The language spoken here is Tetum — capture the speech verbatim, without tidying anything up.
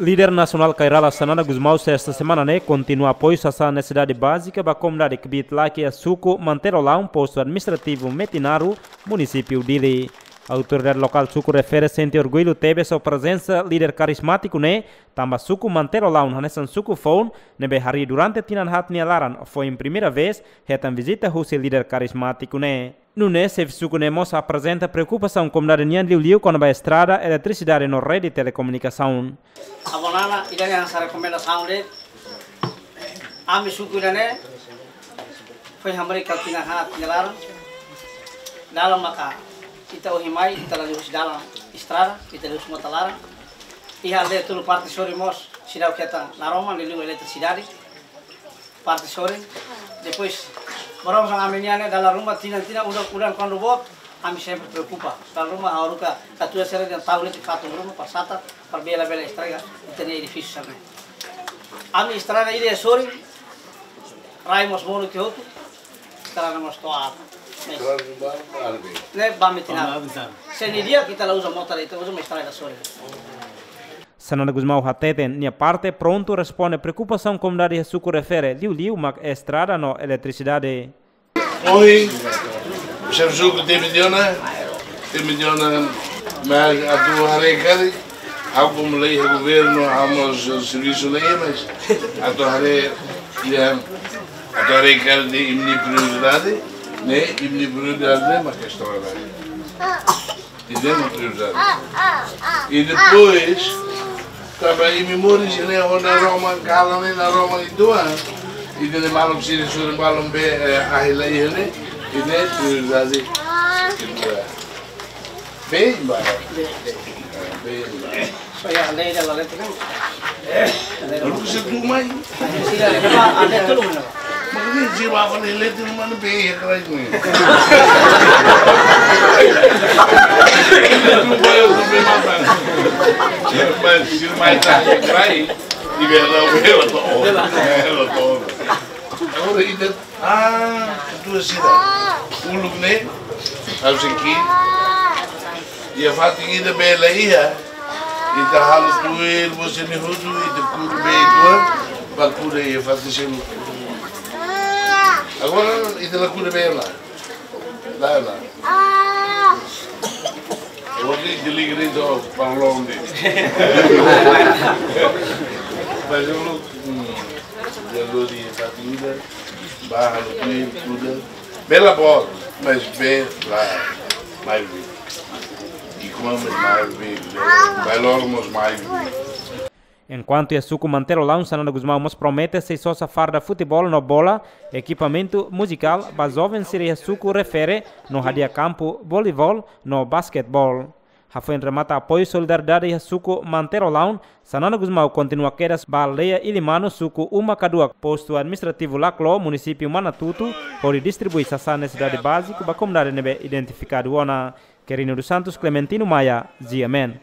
Líder nasionál Kay Rala Xanana Gusmão, sesta semana ne'e, kontinua apoiu sasán nesesidade bázika ba komunidade kbiit laki iha suku Manter Olaun, postu administrativu Metinaro, munisípiu Dili. Autoridade lokál suku refere sente orgullu tebes ho prezensa líder karizmátiku ne'e, tanba suku Manter Olaun hanesan suku foun ne'ebé harii durante tinan haat nia laran foin primeira vez hetan vizita husi líder karizmátiku ne'e. Nune'e, xefe suku ne'e mós aprezenta preokupasaun komunidade nian liuliu kona-ba estrada, eletrisidade no rede telekomunikasaun. Avó Nana, ida-ne'e hanesan rekomendasaun de'it. Ami suku ida-ne'e foin hamriik tinan haat nia laran. Dalan maka ita ohin mai, ita la liu husi dalan estrada, ita liu husi mota laran. Iha aldeia tolu parte sorin mós seidauk hetan naroman, liuliu eletrisidade parte sorin. Depois, barongsang ami-nian ne'e dalan ruma tinan-tinan, udan, udan kuandu boot, ami sempre preokupa. Dalan ruma ha'u haruka katuas sira dehan tau leten fatin ruma, para sata, para bele, bele estraga ita-nia edifísiu sira-ne'e. Ami estrada ida sorin, rai mós monu tiha hotu, estrada mós to'o aat. Ne'e, ne'e ba Metinaro. Se nia di'ak ita la uza mota, ita uza mak estrada sorin. Xanana Gusmão hateten nia parte prontu responde preokupasaun komunidade iha suku refere, liuliu mak estrada no eletrisidade. Ohin, xefe suku temi tiha ona, temi tiha ona, mas atu haree karik, ha'u komu lei iha governu, ha'u mós servisu lei, mas atu haree, ya, atu haree karik imi-nia prioridade, ne'e, imi-nia prioridade ne'e mak estrada. Ida-ne'e mak prioridade. I depois, tanba imi moris iha ne'e, ho naroman, kalan ne'e naroman uitoan. Ida-ne'e maluk sira sorin balun be, eh, ahi la iha ne'e. Ida-ne'e prioridade kedua. Bem, ba. Bem, ba. Só ia ler ela lá dentro, não? Lalu se tu mai. Sira, ada tu lu mana? Makanya si bapak ni letu mana be ya kerai ni. Lupa ya, lupa makan. Sira mai, sira mai tak kerai. Di bela bela to. Bela to. Agora ida, ah, tu sira. Uluk ne'e, harus ki. Iha fatin ida bele iha. Ita halo tuir, bosé ne'e hotu, ita kuda bee tua, ba kuda iha fatin seluk. Agora, ita la kuda bee la. La, la. Agora, ita liga de'it para longe. Mas eu não, hum, eu não digo essa vida, ba halo tuir, kuda. Bee la boot, mas bee la mai. I kuma mai, mai, mai loron mós mai. Enkuantu iha suku Manter Olaun, Xanana Gusmão mós promete sei sosa farda futeból no bola, ekipamentu muzikál ba joven sira iha suku refere no hadi'a kampu voleibol no basketeból. Hafoin remata apoiu solidariedade iha suku Manter Olaun, Xanana Gusmão kontinua kedas ba aldeia Ilimanu, suku Uma Kaduak, postu administrativu Laclo, munisípiu Manatuto, hodi distribui sasán nesesidade báziku ba komunidade ne'ebé identifikadu ona. Querino dos Santos, Clementino Maia, G M N.